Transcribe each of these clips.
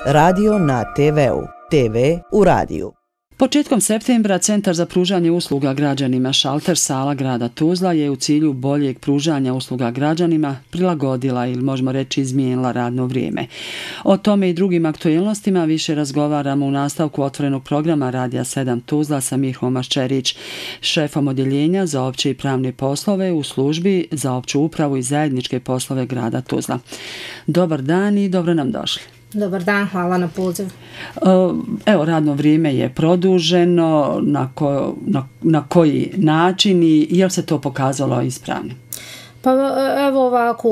Radio na TV-u. TV u radiju. Početkom septembra Centar za pružanje usluga građanima Šalter sala grada Tuzla je u cilju boljeg pružanja usluga građanima prilagodila ili možemo reći izmijenila radno vrijeme. O tome i drugim aktualnostima više razgovaramo u nastavku otvorenog programa Radija 7 Tuzla sa Mirhom Maščerić, šefom odjeljenja za opće i pravne poslove u službi za opću upravu i zajedničke poslove grada Tuzla. Dobar dan i dobro nam došli. Dobar dan, hvala na poziv. Evo, radno vrijeme je produženo, na koji način i je li se to pokazalo ispravnim? Pa evo ovako,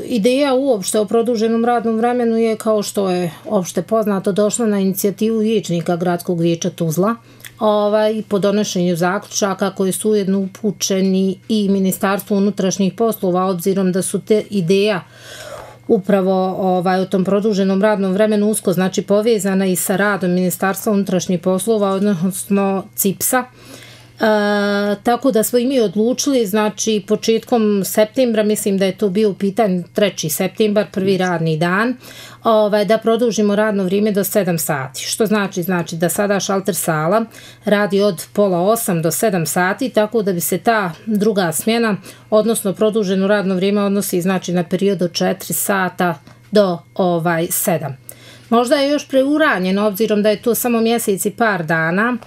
ideja uopšte o produženom radnom vremenu je, kao što je opšte poznato, došla na inicijativu vijećnika Gradskog vijeća Tuzla po donošenju zaključaka koji su ujedno upućeni i Ministarstvu unutrašnjih poslova, obzirom da su te ideja upravo u tom produženom radnom vremenu usko povezana i sa radom Ministarstva unutrašnjih poslova, odnosno CIPS-a. Tako da smo i mi odlučili, početkom septembra, mislim da je to bio u pitanju 3. septembar, prvi radni dan, da produžimo radno vrijeme do 7 sati. Što znači da sada Šalter sala radi od 7:30 do 7 sati, tako da bi se ta druga smjena, odnosno produženo radno vrijeme, odnosi na period od 4 sata do 7. Možda je još preuranjeno, obzirom da je to samo mjesec i par dana,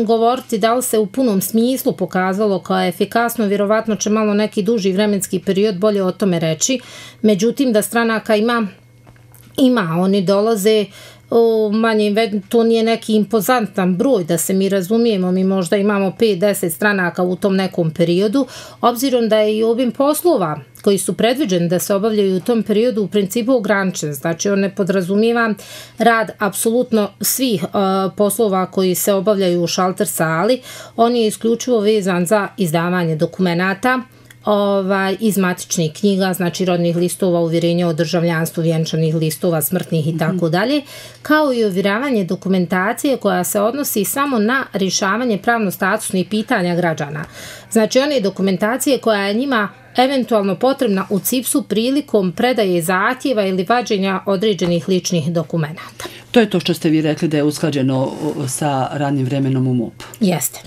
govoriti da li se u punom smislu pokazalo kao efikasno, vjerovatno će malo neki duži vremenski period bolje o tome reći. Međutim, da stranaka ima, oni dolaze to nije neki impozantan broj, da se mi razumijemo, mi možda imamo 5-10 stranaka u tom nekom periodu, obzirom da je i obim poslova koji su predviđeni da se obavljaju u tom periodu u principu ograničen. Znači, on ne podrazumijeva rad apsolutno svih poslova koji se obavljaju u Šalter sali, on je isključivo vezan za izdavanje dokumenata, iz matičnih knjiga, rodnih listova, uvjerenja o državljanstvu, vjenčanih listova, smrtnih i tako dalje, kao i ovjeravanje dokumentacije koja se odnosi samo na rješavanje pravno-statusnih pitanja građana. Znači, one dokumentacije koja je njima eventualno potrebna u CIPS-u prilikom predaje zahtjeva ili vađenja određenih ličnih dokumenata. To je to što ste vi rekli da je usklađeno sa radnim vremenom u MUP. Jeste.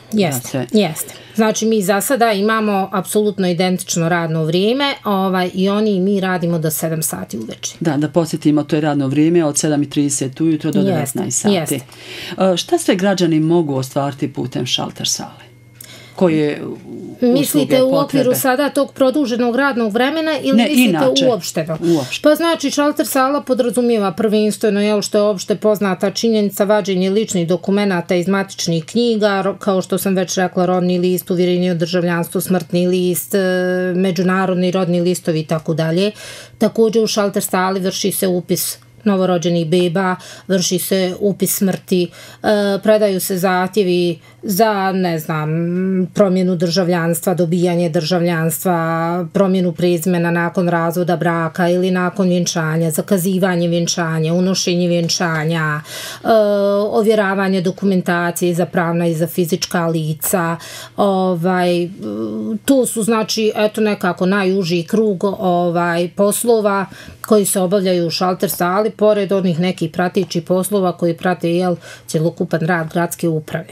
Znači, mi za sada imamo apsolutno identično radno vrijeme i oni i mi radimo do 7 sati uveče. Da posjetimo, to je radno vrijeme od 7:30 ujutro do 19 sati. Šta sve građani mogu ostvariti putem Šalter sale? Koje mislite u okviru sada tog produženog radnog vremena ili mislite uopšteno? Pa znači, Šalter sala podrazumijeva prvenstveno, što je opšte poznata činjenica, vađenje ličnih dokumenata iz matičnih knjiga, kao što sam već rekla, rodni list, uvjerenje o državljanstvu, smrtni list, međunarodni rodni listovi i tako dalje. Također u Šalter sali vrši se upis novorođenih beba, vrši se upis smrti, predaju se zahtjevi za, promjenu državljanstva, dobijanje državljanstva, promjenu prezimena nakon razvoda braka ili nakon vjenčanja, zakazivanje vjenčanja, unošenje vjenčanja, ovjeravanje dokumentacije za pravna i za fizička lica. To su, nekako najuži krug poslova koji se obavljaju u Šalter sali, pored onih nekih pratećih poslova koji prate cjelokupan rad gradske uprave.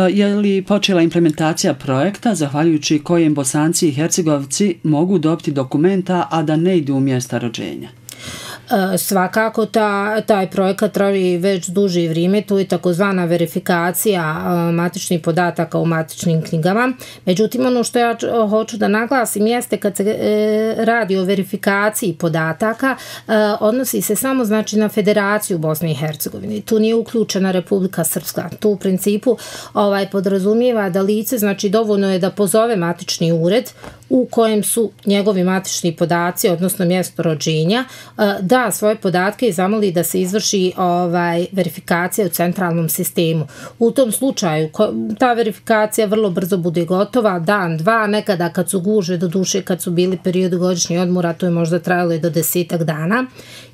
Je li počela implementacija projekta zahvaljujući kojem Bosanci i Hercegovci mogu dobiti dokumenta, a da ne idu u mjesta rođenja? Svakako taj projekat traži već duže vrijeme, to je takozvana verifikacija matičnih podataka u matičnim knjigama. Međutim, ono što ja hoću da naglasim jeste kad se radi o verifikaciji podataka, odnosi se samo na Federaciju Bosne i Hercegovine. Tu nije uključena Republika Srpska. Tu u principu podrazumijeva da lice, dovoljno je da pozove matični ured u kojem su njegovi matični podaci, odnosno mjesto rođenja, da svoje podatke i zamoli da se izvrši verifikacija u centralnom sistemu. U tom slučaju ta verifikacija vrlo brzo bude gotova, dan, dva, nekada kad su gužve, do duše kad su bili periodi godišnjih odmora, to je možda trajalo i do 10 dana.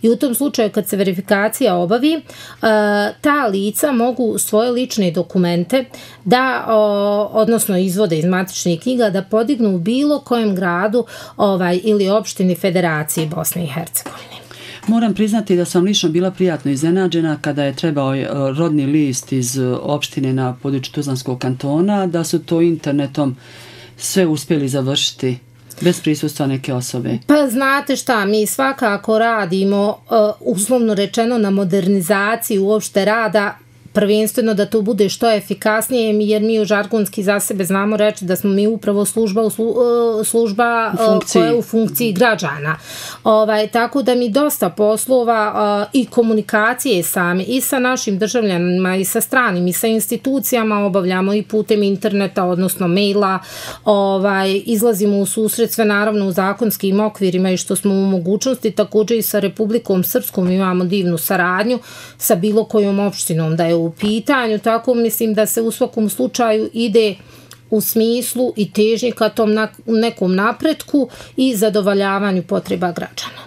I u tom slučaju kad se verifikacija obavi, ta lica mogu svoje lične dokumente da, odnosno izvode iz matičnih knjiga, da podignu u bilo kojem gradu ili opštini Federacije Bosne i Hercegovine. Moram priznati da sam lično bila prijatno iznenađena kada je trebao rodni list iz opštine na području Tuzlanskog kantona, da su to internetom sve uspjeli završiti bez prisustva neke osobe. Pa znate šta, mi svakako radimo, uslovno rečeno, na modernizaciji uopšte rada, prvenstveno da to bude što efikasnije, jer mi u žargonski za sebe znamo reći da smo mi upravo služba koja je u funkciji građana. Tako da mi dosta poslova i komunikacije sami i sa našim državljanima i sa stranim i sa institucijama obavljamo i putem interneta, odnosno maila, izlazimo u susret sve naravno u zakonskim okvirima i što smo u mogućnosti, također i sa Republikom Srpskom imamo divnu saradnju sa bilo kojom opštinom da je u pitanju, tako mislim da se u svakom slučaju ide u smislu i težnji ka tom nekom napretku i zadovoljavanju potreba građana.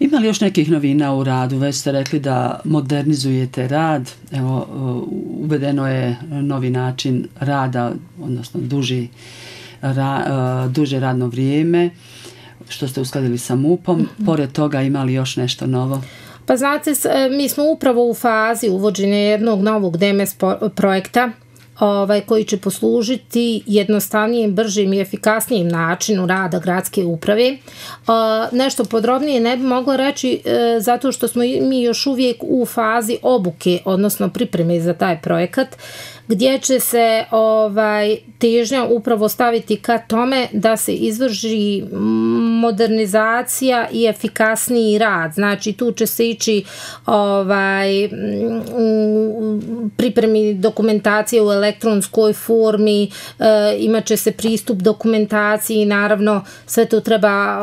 Ima li još nekih novina u radu? Već ste rekli da modernizujete rad, evo, uvedeno je novi način rada, odnosno duže radno vrijeme, što ste uskladili sa MUP-om. Pored toga ima li još nešto novo? Pa znate, mi smo upravo u fazi uvođenja jednog novog DMS projekta koji će poslužiti jednostavnijem, bržim i efikasnijim načinu rada gradske uprave. Nešto podrobnije ne bi mogla reći zato što smo mi još uvijek u fazi obuke, odnosno pripreme za taj projekat, gdje će se težnja upravo staviti ka tome da se izvrši modernizacija i efikasniji rad. Znači tu će se ići pripremi dokumentacije u elektronskoj formi, imat će se pristup dokumentaciji, naravno sve to treba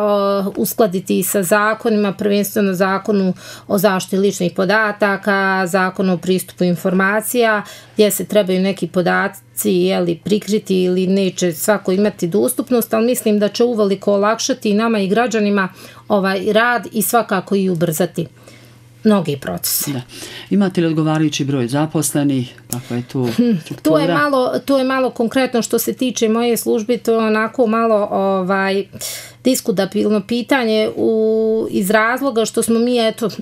uskladiti sa zakonima, prvenstveno zakonu o zaštiti ličnih podataka, zakonu o pristupu informacija, gdje se trebaju neki podaci prikriti ili neće svako imati dostupnost, ali mislim da će uveliko olakšati nama i građanima rad i svakako i ubrzati mnogi procesi. Da. Imate li odgovarajući broj zaposlenih? Kako je tu struktura? To je malo konkretno što se tiče moje službe, to je onako malo diskutabilno pitanje iz razloga što smo mi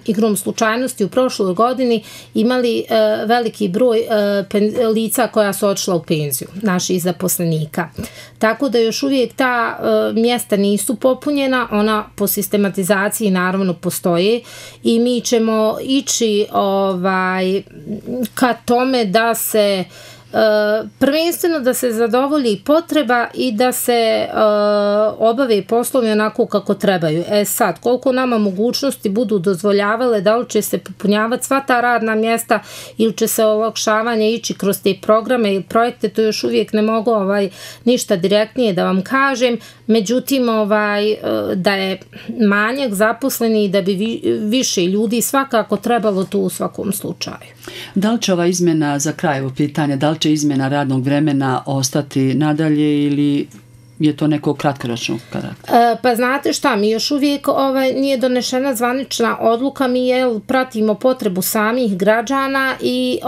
igrom slučajnosti u prošloj godini imali veliki broj lica koja su odšla u penziju, naših zaposlenika. Tako da još uvijek ta mjesta nisu popunjena, ona po sistematizaciji naravno postoje i mi ćemo ići ka tome da se prvenstveno da se zadovolji potreba i da se obave poslovi onako kako trebaju. Sad, koliko nama mogućnosti budu dozvoljavale, da li će se popunjavati sva ta radna mjesta ili će se olakšavanje ići kroz te programe ili projekte, to još uvijek ne mogu ništa direktnije da vam kažem. Međutim, da je manjak zaposleni i da bi više ljudi svakako trebalo tu u svakom slučaju. Da li će ova izmjena, za kraj ovo pitanje, da li će izmjena radnog vremena ostati nadalje ili je to neko kratkoročnog karaktera? Pa znate šta, mi još uvijek nije donešena zvanična odluka, mi pratimo potrebu samih građana i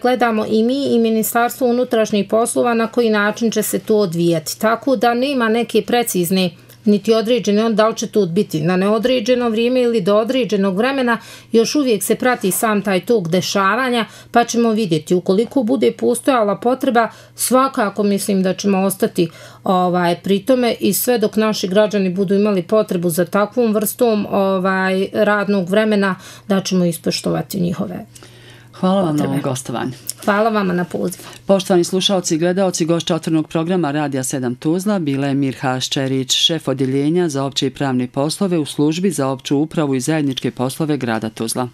gledamo i mi i Ministarstvo unutrašnjih poslova na koji način će se to odvijati. Tako da nema neke precizne niti određene, da li će to biti na neodređeno vrijeme ili do određenog vremena, još uvijek se prati sam taj tok dešavanja, pa ćemo vidjeti. Ukoliko bude postojala potreba, svakako mislim da ćemo ostati pri tome i sve dok naši građani budu imali potrebu za takvom vrstom radnog vremena, da ćemo ispoštovati njihove. Hvala vam na ovom gostovanju. Hvala vama na pozivu. Poštovani slušalci i gledaoci, gošća otvorenog programa Radija 7 Tuzla bila je Mirha Ščerić, šef odjeljenja za opće i pravne poslove u službi za opću upravu i zajedničke poslove grada Tuzla.